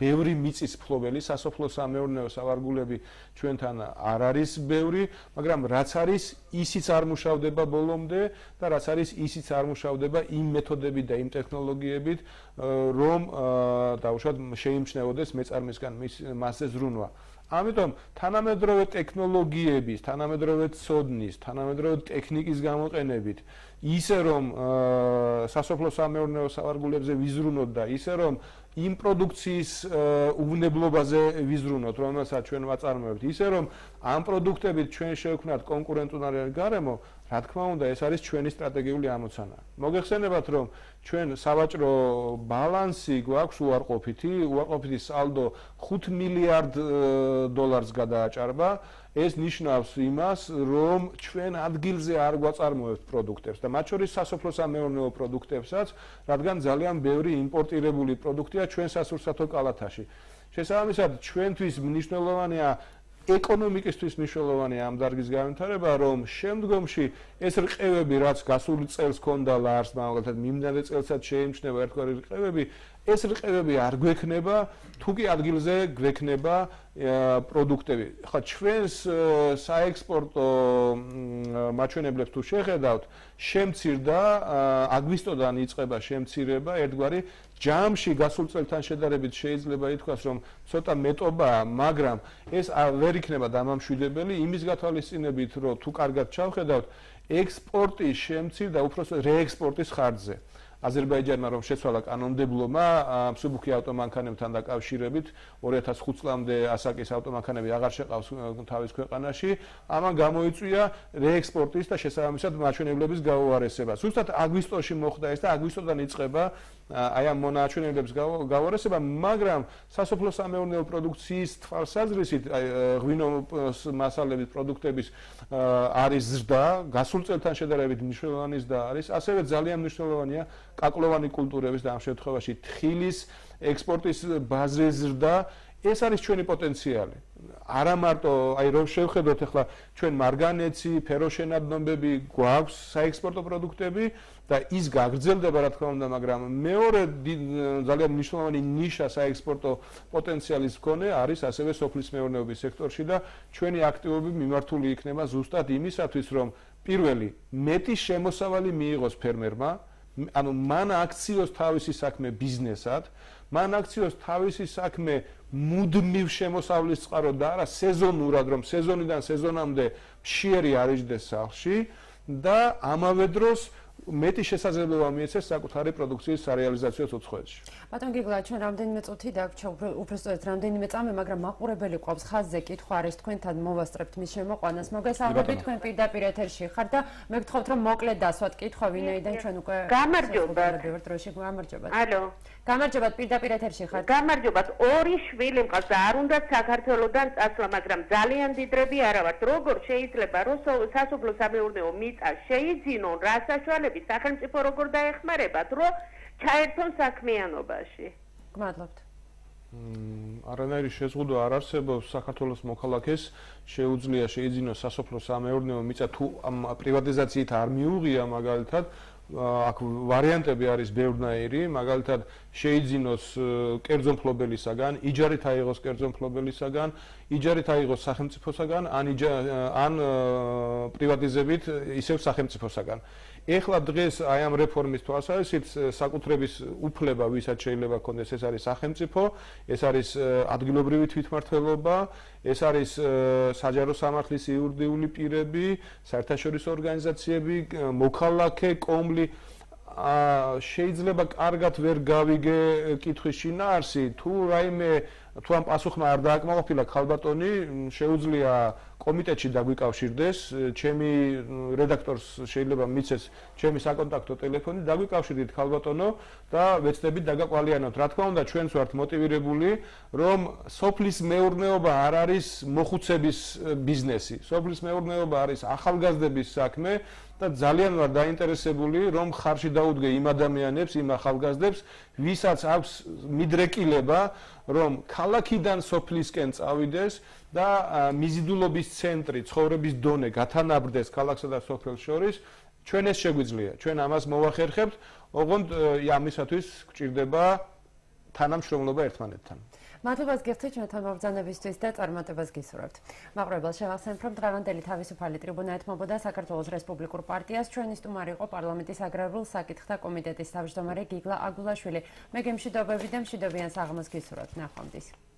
ბევრი მიწის ფლობელი, სასოფლო-სამეურნეო სავარგულები ჩვენთან არ არის ბევრი, მაგრამ რაც არის, ისიც არ მუშავდება ბოლომდე და რაც არის, ისიც არ მუშავდება იმ მეთოდებით და იმ ტექნოლოგიებით, რომ დაუშვათ შეიმჩნეოდეს მეწარმისგან მასზე ზრუნვა. ამიტომ თანამედროვე ტექნოლოგიების, თანამედროვე ცოდნის, თანამედროვე ტექნიკის გამოყენებით, ისე რომ სასოფლო-სამეურნეო სავარგულებზე ვიზრუნოთ და ისე რომ იმ პროდუქციის უვნებლობაზე ვიზრუნოთ, რომელსაც ჩვენ ვაწარმოებთ, ისე რომ ამ პროდუქტებით ჩვენ შევქმნათ კონკურენტუნარიანი გარემო, რა თქმა უნდა, ეს არის ჩვენი სტრატეგიული ამოცანა. მოგეხსენებათ, რომ ჩვენ სავაჭრო ბალანსი გვაქვს უარყოფითი სალდო 5 მილიარდ დოლარს გადააჭარბა. ეს ნიშნავს იმას, რომ ჩვენ ადგილზე არ გვაწარმოებთ პროდუქტებს და მათ შორის სასოფლო-სამეურნეო პროდუქტებსაც, რადგან ძალიან ბევრი იმპორტირებული პროდუქტია ჩვენ სასურსათო კალათაში. შესაბამისად, ჩვენთვის მნიშვნელოვანია ეკონომიკისთვის მნიშვნელოვანია ამ დარგის განვითარება, რომ შემდგომში ეს რყევები, რაც გასული წელს ჰქონდა ლარს, მაგალითად მიმდინარე წელსაც შეიმჩნევა ერთგვარი რყევები, ეს რყევები არ გვექნება, თუ კი ადგილზე გვექნება პროდუქტები. ხა ჩვენს საექსპორტო მაჩვენებლებს თუ შეხედავთ, შემცირდა აგვისტოდან იწყება შემცირება ერთგვარი ჯამში გასულ წელთან შედარებით შეიძლება ითქვას, რომ ცოტა მეტობაა, მაგრამ ეს ვერ იქნება დამამშვიდებელი იმის გათვალისწინებით, რომ თუ კარგად ჩავხედავთ, ექსპორტი შემცირდა უпростоრ რეექსპორტის ხარჯზე. აზერბაიჯანმა რომ შეცვალა კანონმდებლობა მსუბუქი ავტომანქანებთან დაკავშირებით 2005 წლამდე ასაკის ავტომანქანები აღარ შეყავს თავის ქვეყანაში, ამან გამოიწვია რეექსპორტის და შესაბამისად მაჩვენებლების გაუარესება. ზუსტად აგვისტოში მოხდა ეს და აგვისტოდან იწყება აი ამ მონაჩვენებლების გაუარესება, მაგრამ სასოფლო-სამეურნეო პროდუქციის თვალსაზრისით ღვინო მასალების პროდუქტების არის ზრდა, გასულ წელთან შედარებით მნიშვნელოვანი ზრდა არის, ასევე ძალიან მნიშვნელოვანია კაკლოვანი კულტურების და ამ შემთხვევაში თხილის ექსპორტის ბაზრის ზრდა, ეს არის ჩვენი პოტენციალი. არა მარტო, აი რომ შევხედოთ ახლა ჩვენ მარგანეცი, ფეროშენადნობები გვაქვს საექსპორტო პროდუქტები და ის გაგრძელდება რა თქმა უნდა, მაგრამ მეორე ძალიან მნიშვნელოვანი ნიშა საექსპორტო პოტენციალის მქონე არის ასევე სოფლის მეურნეობის სექტორში და ჩვენი აქტივობები მიმართული იქნება ზუსტად იმისათვის, რომ პირველი მეტი შემოსავალი მიიღოს ფერმერმა, ანუ მან აქციოს თავისი საქმე ბიზნესად, მან აქციოს თავისი საქმე მუდმივ შემოსავლის წყაროდ და არა სეზონურად, რომ სეზონიდან სეზონამდე მშიერი არ იჯდეს სახლში და ამავე დროს მეტი შესაძლებლობა მიეცეს საკუთარი პროდუქციის სარეალიზაციოს უცხოეთში. ბატონ გიგლა, ჩვენ რამდენიმე წუთი დაგვრჩა, უბრალოდ რამდენიმე წამი, მაგრამ მაყურებელი ყავს ხაზზე კითხვა არის თქვენთან მოვასწრებთ მის შემოყვანას. მოგესალმებით, თქვენ პირდაპირ ეთერში ხართ და მე გთხოვთ რომ მოკლედ დასვათ კითხვა, ვინაიდან ჩვენ უკვე გამარჯობათ. გამარჯობათ. ალო. გამარჯობათ, პირდაპირ ეთერში ხართ. გამარჯობათ. ორი შვილი მყავს და არ უნდა საქართველოსდან წასვლა, მაგრამ ძალიან დიდრები არა ვართ. როგორ შეიძლება რომ სასოფლო-სამეურნეო მიწა შეიძინონ, რა საშუალებით სახელმწიფო როგორ დაეხმარებათ, რომ ჩაერთონ საქმიანობაში? გმადლობთ. არანაირი შეზღუდვა არ არსებობს საქართველოს მოქალაქეს შეუძლია შეიძინოს სასოფლო-სამეურნეო მიწა თუ ამ პრივატიზაციით არ მიუღია მაგალითად აქ ვარიანტები არის ბევრნაირი, მაგალითად შეიძინოს კერძო მფლობელისაგან, იჯარით აიღოს კერძო მფლობელისაგან, იჯარით აიღოს სახელმწიფოსაგან, ან პრივატიზებით ისევ სახელმწიფოსაგან. ეხლა დღეს აი ამ რეფორმის თვალსაზრისით საკუთრების უფლება ვისაც შეიძლება ქონდეს, ეს არის სახელმწიფო, ეს არის ადგილობრივი თვითმმართველობა, ეს არის საჯარო სამართლის იურიდიული პირები, საერთაშორისო ორგანიზაციები, მოქალაქე, კომლი. შეიძლება კარგად ვერ გავიგე კითხვის შინაარსი, თუ რაიმე თუ ამ პასუხმა არ დააკმაყოფილა ქალბატონი, შეუძლია კომიტეტში დაგვიკავშირდეს, ჩემი რედაქტორს შეიძლება მიცეს ჩემი საკონტაქტო ტელეფონი, დაგვიკავშირდით ქალბატონო და ვეცდებით დაგაკვალიანოთ. რა თქმა უნდა, ჩვენც ვართ მოტივირებული, რომ სოფლის მეურნეობა არ არის მოხუცების ბიზნესი. სოფლის მეურნეობა არის ახალგაზრდების საქმე და ძალიან ვარ დაინტერესებული, რომ ხარში დაუდგე იმ ადამიანებს, იმ ახალგაზრდებს, ვისაც აქვს მიდრეკილება, რომ ქალაქიდან სოფლისკენ წავიდეს და მიზიდულობის ცენტრი, ცხოვრების დონე გათანაბრდეს ქალაქსა და სოფელს შორის, ჩვენ ეს შეგვიძლია. ჩვენ ამას მოვახერხებთ, ოღონდ ამისათვის გვჭირდება თანამშრომლობა ერთმანეთთან. მადლობას გიხდით ჩვენთან მობრძანებისთვის და წარმატებას გისურვებთ. მაყურებელს შევახსენებ, რომ დღევანდელი თავისუფალი ტრიბუნა ეთმობოდა საქართველოს რესპუბლიკურ პარტიას. ჩვენი სტუმარი იყო პარლამენტის აგრარულ საკითხთა კომიტეტის თავმჯდომარე გიგლა აგულაშვილი. მე გემშვიდობები და მშვიდობიან საღამოს გისურვებთ. ნახვამდის.